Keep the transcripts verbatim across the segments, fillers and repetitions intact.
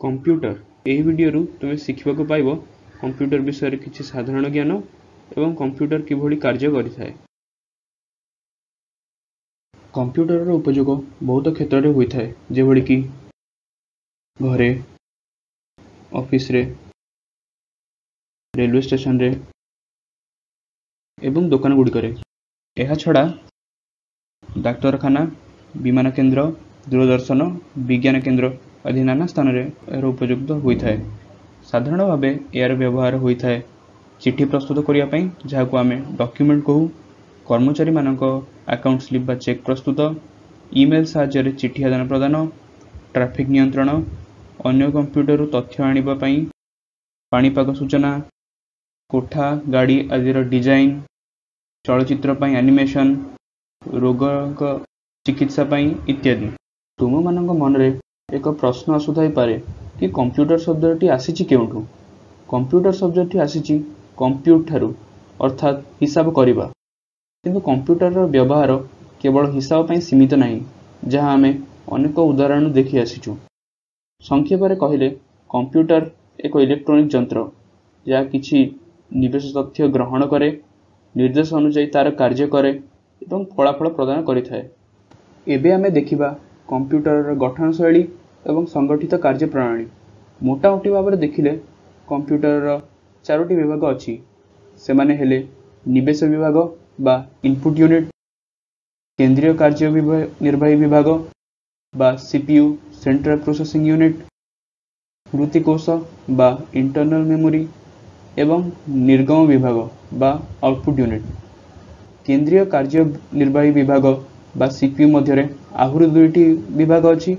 Computer. ଏହି ଭିଡ଼ିଓରୁ ତୁମେ ଶିଖିବାକୁ ପାଇବ କମ୍ପ୍ୟୁଟର ବିଷୟରେ କିଛି ସାଧାରଣ ଜ୍ଞାନ ଏବଂ କମ୍ପ୍ୟୁଟର କିଭଳି କାର୍ଯ୍ୟ କରିଥାଏ। କମ୍ପ୍ୟୁଟରର ଉପଯୋଗ ବହୁତ କ୍ଷେତ୍ରରେ ହୋଇଥାଏ, ଯେଭଳିକି ଘରେ, ଅଫିସରେ, ରେଲୱେ ଷ୍ଟେସନରେ ଏବଂ ଦୋକାନ ଗୁଡ଼ିକରେ। ଏହାଛଡ଼ା ଡାକ୍ତରଖାନା, ବିମାନ କେନ୍ଦ୍ର, ଦୂରଦର୍ଶନ, ବିଜ୍ଞାନ କେନ୍ଦ୍ର ଆଦି ନାନା ସ୍ଥାନରେ ଏହାର ଉପଯୁକ୍ତ ହୋଇଥାଏ। ସାଧାରଣ ଭାବେ ଏହାର ବ୍ୟବହାର ହୋଇଥାଏ ଚିଠି ପ୍ରସ୍ତୁତ କରିବା ପାଇଁ, ଯାହାକୁ ଆମେ ଡକ୍ୟୁମେଣ୍ଟ କହୁ, କର୍ମଚାରୀମାନଙ୍କ ଆକାଉଣ୍ଟ ସ୍ଲିପ୍ ବା ଚେକ୍ ପ୍ରସ୍ତୁତ, ଇମେଲ୍ ସାହାଯ୍ୟରେ ଚିଠି ଆଦାନ ପ୍ରଦାନ, ଟ୍ରାଫିକ୍ ନିୟନ୍ତ୍ରଣ, ଅନ୍ୟ କମ୍ପ୍ୟୁଟରରୁ ତଥ୍ୟ ଆଣିବା ପାଇଁ, ପାଣିପାଗ ସୂଚନା, କୋଠା, ଗାଡ଼ି ଆଦିର ଡିଜାଇନ୍, ଚଳଚ୍ଚିତ୍ର ପାଇଁ ଆନିମେସନ୍, ରୋଗଙ୍କ ଚିକିତ୍ସା ପାଇଁ ଇତ୍ୟାଦି। ତୁମମାନଙ୍କ ମନରେ ଏକ ପ୍ରଶ୍ନ ଆସୁଥାଇପାରେ କି କମ୍ପ୍ୟୁଟର ଶବ୍ଦଟି ଆସିଛି କେଉଁଠୁ? କମ୍ପ୍ୟୁଟର ଶବ୍ଦଟି ଆସିଛି କମ୍ପ୍ୟୁଟ ଠାରୁ, ଅର୍ଥାତ୍ ହିସାବ କରିବା। କିନ୍ତୁ କମ୍ପ୍ୟୁଟରର ବ୍ୟବହାର କେବଳ ହିସାବ ପାଇଁ ସୀମିତ ନାହିଁ, ଯାହା ଆମେ ଅନେକ ଉଦାହରଣ ଦେଖି ଆସିଛୁ। ସଂକ୍ଷେପରେ କହିଲେ କମ୍ପ୍ୟୁଟର ଏକ ଇଲେକ୍ଟ୍ରୋନିକ୍ ଯନ୍ତ୍ର, ଯାହା କିଛି ନିବେଶ ତଥ୍ୟ ଗ୍ରହଣ କରେ, ନିର୍ଦ୍ଦେଶ ଅନୁଯାୟୀ ତାର କାର୍ଯ୍ୟ କରେ ଏବଂ ଫଳାଫଳ ପ୍ରଦାନ କରିଥାଏ। ଏବେ ଆମେ ଦେଖିବା କମ୍ପ୍ୟୁଟରର ଗଠନ ଶୈଳୀ ଏବଂ ସଂଗଠିତ କାର୍ଯ୍ୟ ପ୍ରଣାଳୀ। ମୋଟାମୋଟି ଭାବରେ ଦେଖିଲେ କମ୍ପ୍ୟୁଟରର ଚାରୋଟି ବିଭାଗ ଅଛି। ସେମାନେ ହେଲେ ନିବେଶ ବିଭାଗ ବା ଇନପୁଟ୍ ୟୁନିଟ୍, କେନ୍ଦ୍ରୀୟ କାର୍ଯ୍ୟ ନିର୍ବାହୀ ବିଭାଗ ବା ସିପିୟୁ ସେଣ୍ଟ୍ରାଲ ପ୍ରୋସେସିଂ ୟୁନିଟ୍, ସ୍ମୃତିକୋଷ ବା ଇଣ୍ଟରନାଲ ମେମୋରି ଏବଂ ନିର୍ଗମ ବିଭାଗ ବା ଆଉଟପୁଟ୍ ୟୁନିଟ୍। କେନ୍ଦ୍ରୀୟ କାର୍ଯ୍ୟ ନିର୍ବାହୀ ବିଭାଗ ବା ସିପିୟୁ ମଧ୍ୟରେ ଆହୁରି ଦୁଇଟି ବିଭାଗ ଅଛି।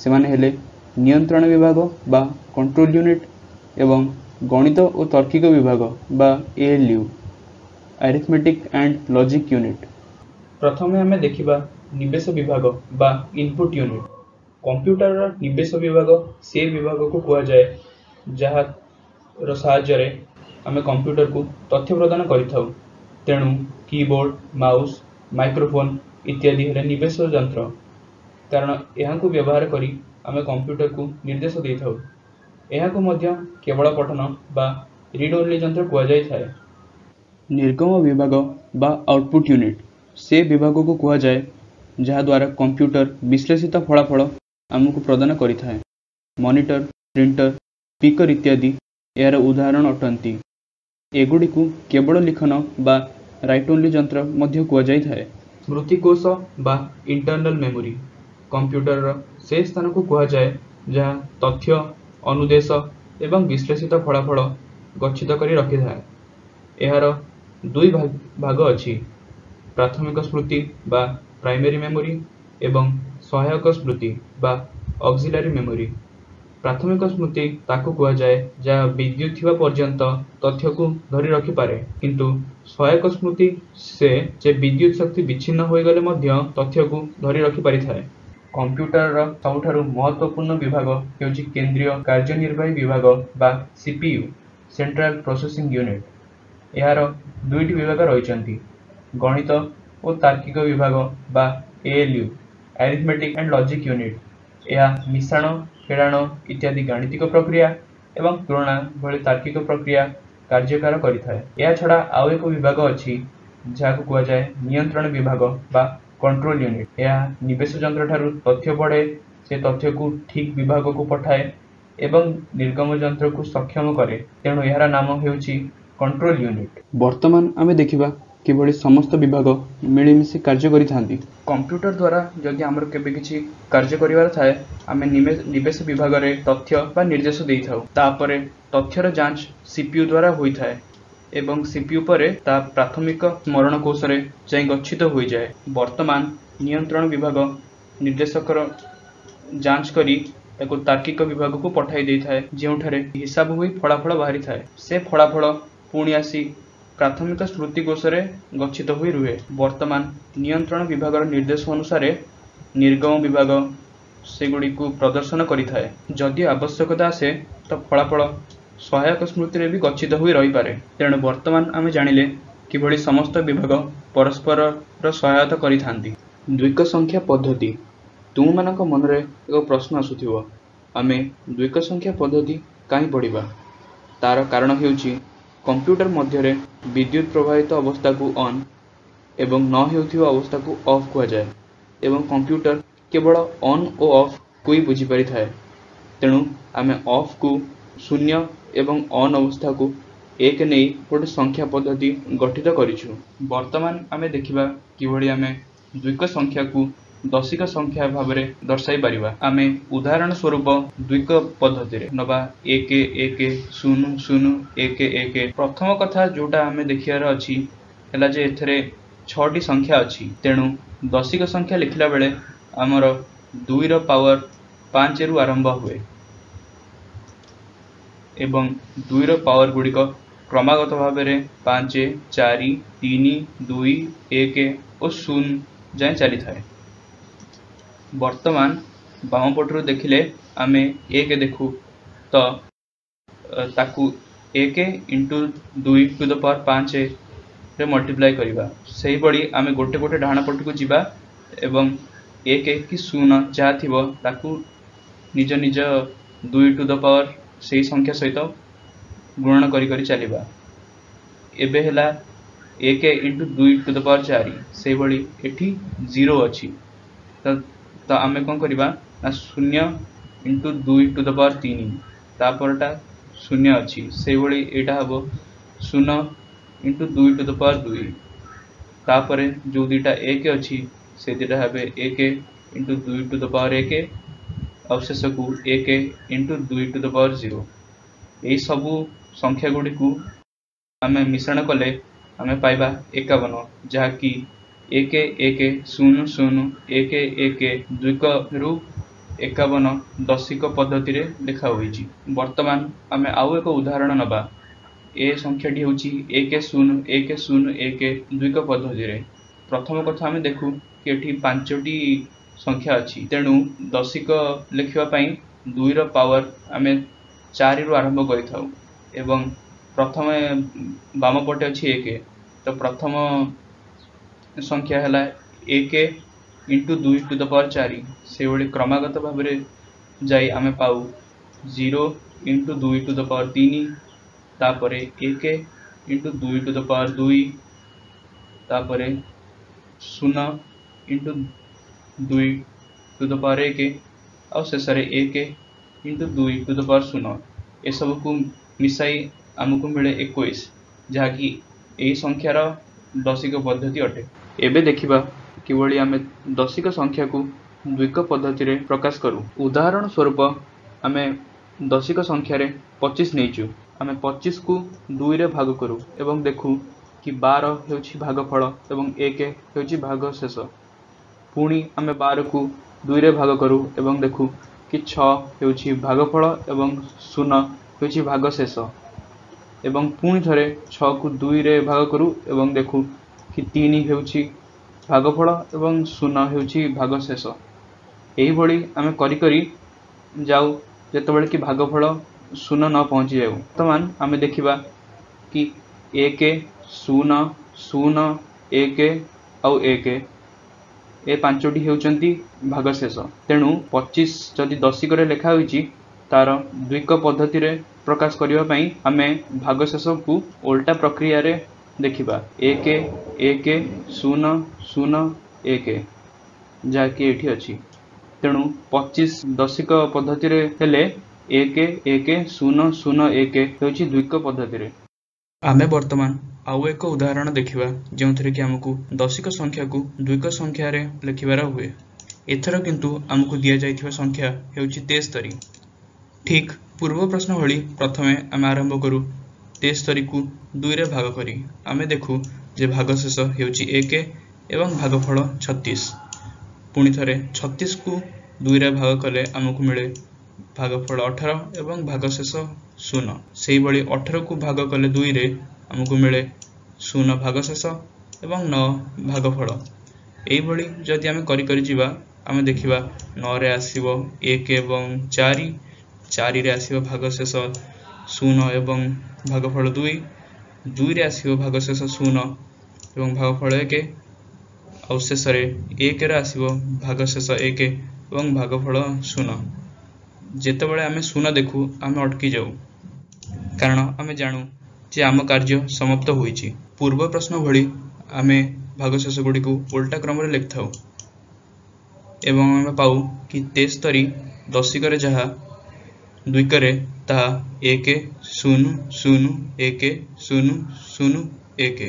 ସେମାନେ ହେଲେ ନିୟନ୍ତ୍ରଣ ବିଭାଗ ବା କଣ୍ଟ୍ରୋଲ ୟୁନିଟ୍ ଏବଂ ଗଣିତ ଓ ତାର୍କିକ ବିଭାଗ ବା ALU, arithmetic and logic unit. ପ୍ରଥମେ ଆମେ ଦେଖିବା ନିବେଶ ବିଭାଗ ବା ଇନପୁଟ୍ ୟୁନିଟ୍। କମ୍ପ୍ୟୁଟରର ନିବେଶ ବିଭାଗ ସେ ବିଭାଗକୁ କୁହାଯାଏ ଯାହାର ସାହାଯ୍ୟରେ ଆମେ କମ୍ପ୍ୟୁଟରକୁ ତଥ୍ୟ ପ୍ରଦାନ କରିଥାଉ। ତେଣୁ କିବୋର୍ଡ, ମାଉସ୍, ମାଇକ୍ରୋଫୋନ୍ ଇତ୍ୟାଦି ହେଲେ ନିବେଶ ଯନ୍ତ୍ର, କାରଣ ଏହାକୁ ବ୍ୟବହାର କରି ଆମେ କମ୍ପ୍ୟୁଟରକୁ ନିର୍ଦ୍ଦେଶ ଦେଇଥାଉ। ଏହାକୁ ମଧ୍ୟ କେବଳ ପଠନ ବା ରିଡ୍ ଓନ୍ଲି ଯନ୍ତ୍ର କୁହାଯାଇଥାଏ। ନିର୍ଗମ ବିଭାଗ ବା ଆଉଟପୁଟ୍ ୟୁନିଟ୍ ସେ ବିଭାଗକୁ କୁହାଯାଏ ଯାହାଦ୍ୱାରା କମ୍ପ୍ୟୁଟର ବିଶ୍ଳେଷିତ ଫଳାଫଳ ଆମକୁ ପ୍ରଦାନ କରିଥାଏ। ମନିଟର, ପ୍ରିଣ୍ଟର, ସ୍ପିକର ଇତ୍ୟାଦି ଏହାର ଉଦାହରଣ ଅଟନ୍ତି। ଏଗୁଡ଼ିକୁ କେବଳ ଲିଖନ ବା ରାଇଟ୍ ଓନ୍ଲି ଯନ୍ତ୍ର ମଧ୍ୟ କୁହାଯାଇଥାଏ। ସ୍ମୃତିକୋଷ ବା ଇଣ୍ଟରନାଲ ମେମୋରି କମ୍ପ୍ୟୁଟରର ସେ ସ୍ଥାନକୁ କୁହାଯାଏ ଯାହା ତଥ୍ୟ, ଅନୁଦେଶ ଏବଂ ବିଶ୍ଳେଷିତ ଫଳାଫଳ ଗଚ୍ଛିତ କରି ରଖିଥାଏ। ଏହାର ଦୁଇ ଭାଗ ଅଛି, ପ୍ରାଥମିକ ସ୍ମୃତି ବା ପ୍ରାଇମେରୀ ମେମୋରି ଏବଂ ସହାୟକ ସ୍ମୃତି ବା ଅକ୍ସିଲାରୀ ମେମୋରି। ପ୍ରାଥମିକ ସ୍ମୃତି ତାକୁ କୁହାଯାଏ ଯାହା ବିଦ୍ୟୁତ୍ ଥିବା ପର୍ଯ୍ୟନ୍ତ ତଥ୍ୟକୁ ଧରି ରଖିପାରେ, କିନ୍ତୁ ସହାୟକ ସ୍ମୃତି ସେ ଯେ ବିଦ୍ୟୁତ୍ ଶକ୍ତି ବିଚ୍ଛିନ୍ନ ହୋଇଗଲେ ମଧ୍ୟ ତଥ୍ୟକୁ ଧରି ରଖିପାରିଥାଏ। କମ୍ପ୍ୟୁଟରର ସବୁଠାରୁ ମହତ୍ତ୍ୱପୂର୍ଣ୍ଣ ବିଭାଗ ହେଉଛି କେନ୍ଦ୍ରୀୟ କାର୍ଯ୍ୟନିର୍ବାହୀ ବିଭାଗ ବା ସିପିୟୁ, ସେଣ୍ଟ୍ରାଲ ପ୍ରୋସେସିଂ ୟୁନିଟ୍। ଏହାର ଦୁଇଟି ବିଭାଗ ରହିଛନ୍ତି, ଗଣିତ ଓ ତାର୍କିକ ବିଭାଗ ବା ALU, arithmetic and logic unit. ଏହା ମିଶାଣ, ଫେଡ଼ାଣ ଇତ୍ୟାଦି ଗାଣିତିକ ପ୍ରକ୍ରିୟା ଏବଂ ତୁଳନା ଭଳି ତାର୍କିକ ପ୍ରକ୍ରିୟା କାର୍ଯ୍ୟକାର କରିଥାଏ। ଏହାଛଡ଼ା ଆଉ ଏକ ବିଭାଗ ଅଛି ଯାହାକୁ କୁହାଯାଏ ନିୟନ୍ତ୍ରଣ ବିଭାଗ ବା କଣ୍ଟ୍ରୋଲ ୟୁନିଟ୍। ଏହା ନିବେଶ ଯନ୍ତ୍ରଠାରୁ ତଥ୍ୟ ପଢ଼େ, ସେ ତଥ୍ୟକୁ ଠିକ୍ ବିଭାଗକୁ ପଠାଏ ଏବଂ ନିର୍ଗମ ଯନ୍ତ୍ରକୁ ସକ୍ଷମ କରେ। ତେଣୁ ଏହାର ନାମ ହେଉଛି କଣ୍ଟ୍ରୋଲ ୟୁନିଟ୍। ବର୍ତ୍ତମାନ ଆମେ ଦେଖିବା କିଭଳି ସମସ୍ତ ବିଭାଗ ମିଳିମିଶି କାର୍ଯ୍ୟ କରିଥାନ୍ତି। କମ୍ପ୍ୟୁଟର ଦ୍ୱାରା ଯଦି ଆମର କେବେ କିଛି କାର୍ଯ୍ୟ କରିବାର ଥାଏ, ଆମେ ନିବେଶ ବିଭାଗରେ ତଥ୍ୟ ବା ନିର୍ଦ୍ଦେଶ ଦେଇଥାଉ। ତାପରେ ତଥ୍ୟର ଯାଞ୍ଚ ସିପିୟୁ ଦ୍ୱାରା ହୋଇଥାଏ ଏବଂ ସିପିୟୁ ପରେ ତାହା ପ୍ରାଥମିକ ସ୍ମରଣ କୋଷରେ ଯାଇ ଗଚ୍ଛିତ ହୋଇଯାଏ। ବର୍ତ୍ତମାନ ନିୟନ୍ତ୍ରଣ ବିଭାଗ ନିର୍ଦ୍ଦେଶକର ଯାଞ୍ଚ କରି ତାକୁ ତାର୍କିକ ବିଭାଗକୁ ପଠାଇ ଦେଇଥାଏ, ଯେଉଁଠାରେ ହିସାବ ହୋଇ ଫଳାଫଳ ବାହାରିଥାଏ। ସେ ଫଳାଫଳ ପୁଣି ଆସି ପ୍ରାଥମିକ ସ୍ମୃତି କୋଷରେ ଗଚ୍ଛିତ ହୋଇ ରୁହେ। ବର୍ତ୍ତମାନ ନିୟନ୍ତ୍ରଣ ବିଭାଗର ନିର୍ଦ୍ଦେଶ ଅନୁସାରେ ନିର୍ଗମ ବିଭାଗ ସେଗୁଡ଼ିକୁ ପ୍ରଦର୍ଶନ କରିଥାଏ। ଯଦି ଆବଶ୍ୟକତା ଆସେ ତ ଫଳାଫଳ ସହାୟକ ସ୍ମୃତିରେ ବି ଗଚ୍ଛିତ ହୋଇ ରହିପାରେ। ତେଣୁ ବର୍ତ୍ତମାନ ଆମେ ଜାଣିଲେ କିଭଳି ସମସ୍ତ ବିଭାଗ ପରସ୍ପରର ସହାୟତା କରିଥାନ୍ତି। ଦ୍ୱିକ ସଂଖ୍ୟା ପଦ୍ଧତି। ତୁମମାନଙ୍କ ମନରେ ଏକ ପ୍ରଶ୍ନ ଆସୁଥିବ, ଆମେ ଦ୍ୱିକ ସଂଖ୍ୟା ପଦ୍ଧତି କାହିଁ ପଢ଼ିବା? ତାର କାରଣ ହେଉଛି କମ୍ପ୍ୟୁଟର ମଧ୍ୟରେ ବିଦ୍ୟୁତ ପ୍ରବାହିତ ଅବସ୍ଥାକୁ ଅନ୍ ଏବଂ ନ ହେଉଥିବା ଅବସ୍ଥାକୁ ଅଫ୍ କୁହାଯାଏ ଏବଂ କମ୍ପ୍ୟୁଟର କେବଳ ଅନ୍ ଓ ଅଫ୍କୁ ହିଁ ବୁଝିପାରିଥାଏ। ତେଣୁ ଆମେ ଅଫ୍କୁ ଶୂନ୍ୟ ଏବଂ ଅନ୍ ଅବସ୍ଥାକୁ ଏକ ନେଇ ଗୋଟେ ସଂଖ୍ୟା ପଦ୍ଧତି ଗଠିତ କରିଛୁ। ବର୍ତ୍ତମାନ ଆମେ ଦେଖିବା କିଭଳି ଆମେ ଦ୍ୱିକ ସଂଖ୍ୟାକୁ ଦଶିକ ସଂଖ୍ୟା ଭାବରେ ଦର୍ଶାଇ ପାରିବା। ଆମେ ଉଦାହରଣ ସ୍ୱରୂପ ଦ୍ୱିକ ପଦ୍ଧତିରେ ନବା ଏକ ଏକ ଶୂନ ଶୂନ ଏକ ଏକ। ପ୍ରଥମ କଥା ଯୋଉଟା ଆମେ ଦେଖିବାର ଅଛି ହେଲା ଯେ ଏଥିରେ ଛଅଟି ସଂଖ୍ୟା ଅଛି। ତେଣୁ ଦଶିକ ସଂଖ୍ୟା ଲେଖିଲା ବେଳେ ଆମର ଦୁଇର ପାୱାର ପାଞ୍ଚରୁ ଆରମ୍ଭ ହୁଏ ଏବଂ ଦୁଇର ପାୱାର ଗୁଡ଼ିକ କ୍ରମାଗତ ଭାବରେ ପାଞ୍ଚ, ଚାରି, ତିନି, ଦୁଇ, ଏକ ଓ ଶୂନ ଯାଏଁ ଚାଲିଥାଏ। ବର୍ତ୍ତମାନ ବାମ ପଟରୁ ଦେଖିଲେ ଆମେ ଏକ ଦେଖୁ, ତ ତାକୁ ଏକ ଇଣ୍ଟୁ ଦୁଇ ଟୁ the power ପାଞ୍ଚରେ ମଲ୍ଟିପ୍ଲାଏ କରିବା। ସେହିଭଳି ଆମେ ଗୋଟେ ଗୋଟେ ଡାହାଣ ପଟକୁ ଯିବା ଏବଂ ଏକ କି ଶୂନ ଯାହା ଥିବ ତାକୁ ନିଜ ନିଜ ଦୁଇ ଟୁ the power ସେଇ ସଂଖ୍ୟା ସହିତ ଗୁଣନ କରି କରି ଚାଲିବା। ଏବେ ହେଲା ଏକ ଇଣ୍ଟୁ ଦୁଇ ଟୁ the power ଚାରି। ସେଇଭଳି ଏଠି ଜିରୋ ଅଛି, ତ ତ ଆମେ କ'ଣ କରିବା ନା ଶୂନ୍ୟ ଇଣ୍ଟୁ ଦୁଇ ଟୁ the power ତିନି, ତାପରଟା ଶୂନ୍ୟ ଅଛି। ସେଇଭଳି ଏଇଟା ହେବ ଶୂନ ଇଣ୍ଟୁ ଦୁଇ ଟୁ the power ଦୁଇ, ତାପରେ ଯେଉଁ ଦୁଇଟା ଏକ ଅଛି ସେ ଦୁଇଟା ହେବେ ଏକ ଇଣ୍ଟୁ ଦୁଇ ଟୁ the power ଏକ, ଆଉ ଶେଷକୁ ଏକ ଇଣ୍ଟୁ ଦୁଇ ଟୁ the power zero. ଏହି ସବୁ ସଂଖ୍ୟା ଗୁଡ଼ିକୁ ଆମେ ମିଶ୍ରଣ କଲେ ଆମେ ପାଇବା ଏକାବନ, ଯାହାକି ଏକ ଏକ ଶୂନ ଶୂନ ଏକ ଏକ ଦ୍ୱିକରୁ ଏକାବନ ଦଶିକ ପଦ୍ଧତିରେ ଲେଖା ହୋଇଛି। ବର୍ତ୍ତମାନ ଆମେ ଆଉ ଏକ ଉଦାହରଣ ନେବା। ଏ ସଂଖ୍ୟାଟି ହେଉଛି ଏକ ଶୂନ ଏକ ଶୂନ ଏକ ଦ୍ୱିକ ପଦ୍ଧତିରେ। ପ୍ରଥମ କଥା ଆମେ ଦେଖୁ କି ଏଠି ପାଞ୍ଚଟି ସଂଖ୍ୟା ଅଛି, ତେଣୁ ଦଶିକ ଲେଖିବା ପାଇଁ ଦୁଇର ପାୱାର ଆମେ ଚାରିରୁ ଆରମ୍ଭ କରିଥାଉ ଏବଂ ପ୍ରଥମେ ବାମ ପଟେ ଅଛି ଏକ, ତ ପ୍ରଥମ ସଂଖ୍ୟା ହେଲା ଏକ ଇଣ୍ଟୁ ଦୁଇ ଟୁ the power ଚାରି। ସେଇଭଳି କ୍ରମାଗତ ଭାବରେ ଯାଇ ଆମେ ପାଉ ଜିରୋ ଇଣ୍ଟୁ ଦୁଇ ଟୁ the power ତିନି, ତାପରେ ଏକ ଇଣ୍ଟୁ ଦୁଇ ଟୁ the power ଦୁଇ, ତାପରେ ଶୂନ ଇଣ୍ଟୁ ଦୁଇ ଟୁ the power ଏକ, ଆଉ ଶେଷରେ ଏକ ଇଣ୍ଟୁ ଦୁଇ ଟୁ the power ଶୂନ। ଏସବୁକୁ ମିଶାଇ ଆମକୁ ମିଳେ ଏକୋଇଶ, ଯାହାକି ଏହି ସଂଖ୍ୟାର ଦଶିକ ପଦ୍ଧତି ଅଟେ। ଏବେ ଦେଖିବା କିଭଳି ଆମେ ଦଶିକ ସଂଖ୍ୟାକୁ ଦ୍ୱିକ ପଦ୍ଧତିରେ ପ୍ରକାଶ କରୁ। ଉଦାହରଣ ସ୍ୱରୂପ ଆମେ ଦଶିକ ସଂଖ୍ୟାରେ ପଚିଶ ନେଇଛୁ। ଆମେ ପଚିଶକୁ ଦୁଇରେ ଭାଗ କରୁ ଏବଂ ଦେଖୁ କି ବାର ହେଉଛି ଭାଗଫଳ ଏବଂ ଏକ ହେଉଛି ଭାଗଶେଷ। ପୁଣି ଆମେ ବାରକୁ ଦୁଇରେ ଭାଗ କରୁ ଏବଂ ଦେଖୁ କି ଛଅ ହେଉଛି ଭାଗଫଳ ଏବଂ ଶୂନ ହେଉଛି ଭାଗଶେଷ। ଏବଂ ପୁଣି ଥରେ ଛଅକୁ ଦୁଇରେ ଭାଗ କରୁ ଏବଂ ଦେଖୁ କି ତିନି ହେଉଛି ଭାଗଫଳ ଏବଂ ଶୂନ ହେଉଛି ଭାଗଶେଷ। ଏହିଭଳି ଆମେ କରି କରି ଯାଉ ଯେତେବେଳେ କି ଭାଗଫଳ ଶୂନ ନ ପହଞ୍ଚି ଯାଉ। ବର୍ତ୍ତମାନ ଆମେ ଦେଖିବା କି ଏକ ଶୂନ ଶୂନ ଏକ ଆଉ ଏକ ଏ ପାଞ୍ଚଟି ହେଉଛନ୍ତି ଭାଗଶେଷ। ତେଣୁ ପଚିଶ ଯଦି ଦଶିକରେ ଲେଖା ହୋଇଛି, ତାର ଦ୍ୱିକ ପଦ୍ଧତିରେ ପ୍ରକାଶ କରିବା ପାଇଁ ଆମେ ଭାଗଶେଷକୁ ଓଲଟା ପ୍ରକ୍ରିୟାରେ ଦେଖିବା, ଏକ ଏକ ଶୂନ ଶୂନ ଏକ, ଯାହାକି ଏଇଠି ଅଛି। ତେଣୁ ପଚିଶ ଦଶିକ ପଦ୍ଧତିରେ ହେଲେ ଏକ ଏକ ଶୂନ ଶୂନ ଏକ ହେଉଛି ଦ୍ୱିକ ପଦ୍ଧତିରେ। ଆମେ ବର୍ତ୍ତମାନ ଆଉ ଏକ ଉଦାହରଣ ଦେଖିବା ଯେଉଁଥିରେ କି ଆମକୁ ଦଶିକ ସଂଖ୍ୟାକୁ ଦ୍ୱିକ ସଂଖ୍ୟାରେ ଲେଖିବାର ହୁଏ। ଏଥର କିନ୍ତୁ ଆମକୁ ଦିଆଯାଇଥିବା ସଂଖ୍ୟା ହେଉଛି ତେସ୍ତରୀ। ଠିକ୍ ପୂର୍ବ ପ୍ରଶ୍ନ ଭଳି ପ୍ରଥମେ ଆମେ ଆରମ୍ଭ କରୁ ତେସ୍ତରୀକୁ ଦୁଇରେ ଭାଗ କରି। ଆମେ ଦେଖୁ ଯେ ଭାଗଶେଷ ହେଉଛି ଏକ ଏବଂ ଭାଗଫଳ ଛତିଶ। ପୁଣି ଥରେ ଛତିଶକୁ ଦୁଇରେ ଭାଗ କଲେ ଆମକୁ ମିଳେ ଭାଗଫଳ ଅଠର ଏବଂ ଭାଗଶେଷ ଶୂନ। ସେଇଭଳି ଅଠରକୁ ଭାଗ କଲେ ଦୁଇରେ ଆମକୁ ମିଳେ ଶୂନ ଭାଗଶେଷ ଏବଂ ନଅ ଭାଗଫଳ। ଏଇଭଳି ଯଦି ଆମେ କରି କରି ଯିବା, ଆମେ ଦେଖିବା ନଅରେ ଆସିବ ଏକ ଏବଂ ଚାରି, ଚାରିରେ ଆସିବ ଭାଗଶେଷ ଶୂନ ଏବଂ ଭାଗଫଳ ଦୁଇ, ଦୁଇରେ ଆସିବ ଭାଗଶେଷ ଶୂନ ଏବଂ ଭାଗଫଳ ଏକ, ଆଉ ଶେଷରେ ଏକରେ ଆସିବ ଭାଗଶେଷ ଏକ ଏବଂ ଭାଗଫଳ ଶୂନ। ଯେତେବେଳେ ଆମେ ଶୂନ ଦେଖୁ, ଆମେ ଅଟକି ଯାଉ, କାରଣ ଆମେ ଜାଣୁ ଯେ ଆମ କାର୍ଯ୍ୟ ସମାପ୍ତ ହୋଇଛି। ପୂର୍ବ ପ୍ରଶ୍ନ ଭଳି ଆମେ ଭାଗଶେଷ ଗୁଡ଼ିକୁ ଓଲଟା କ୍ରମରେ ଲେଖିଥାଉ ଏବଂ ଆମେ ପାଉ କି ତେସ୍ତରୀ ଦଶିକରେ ଯାହା ଦ୍ୱିକରେ ତାହା ଏକ ଶୂନ ଶୂନ ଏକ ଶୂନ ଶୂନ ଏକ।